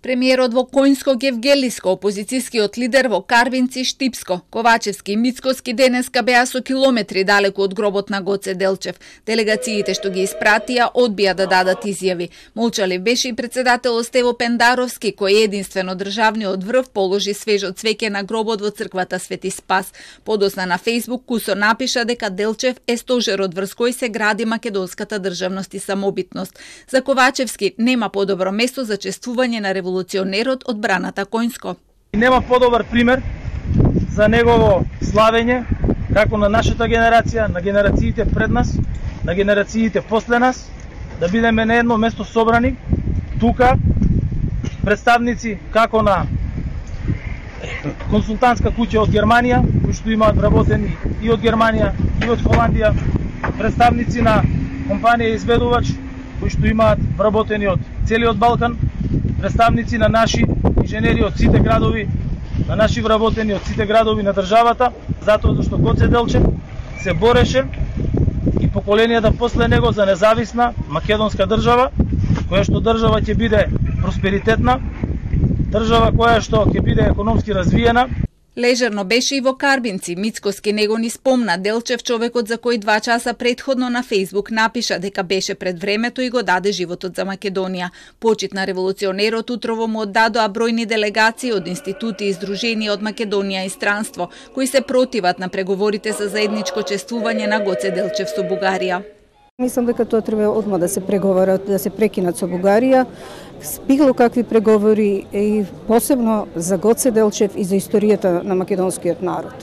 Премиерот во Коњско Гевгелиско, опозицијскиот лидер во Карвинци, Штипско, Ковачевски и Мицкоски денеска беа со километри далеку од гробот на Гоце Делчев. Делегациите што ги испратија одбија да дадат изјави. Молчалив беше и председателот Стево Пендаровски, кој единствено државниот врв положи свежо цвеќе на гробот во црквата Свети Спас. Подосна на Фејсбук Кусо напиша дека Делчев е стожерот врз кој се гради македонската државност и самобитност. За Ковачевски нема подобро место за чествување на револуционерот од браната Коњско. Нема подобар пример за негово славење, како на нашата генерација, на генерациите пред нас, на генерациите после нас, да бидеме на едно место собрани, тука, представници како на консултантска куќа од Германија, кои што имаат вработени и од Германија, и од Холандија, представници на компанија изведувач, кои што имаат вработени од целиот Балкан, представници на наши инженери од сите градови, на наши вработени од сите градови на државата, затоа зашто Гоце Делчев се бореше и поколенијата после него за независна македонска држава, која што држава ќе биде просперитетна, држава која што ќе биде економски развиена. Лежерно беше и во Карбинци. Мицкоски него ни спомна Делчев, човекот за кој 2 часа претходно на Фејсбук напиша дека беше пред времето и го даде животот за Македонија. Почит на револуционерот утрово му оддадоа бројни делегации од институти и издруженија од Македонија и странство, кои се противат на преговорите за заедничко чествување на Гоце Делчев со Бугарија. Мислам дека тоа треба одма да се преговарат, да се прекинат со Бугарија, било какви преговори и посебно за Гоце Делчев и за историјата на македонскиот народ.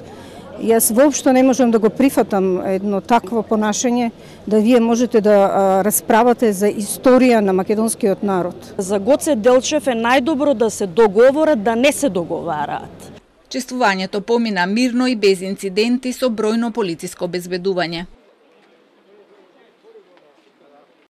Јас воопшто не можам да го прифатам едно такво понашање, да вие можете да расправате за историја на македонскиот народ. За Гоце Делчев е најдобро да се договорат, да не се договараат. Чествувањето помина мирно и без инциденти со бројно полициско обезбедување.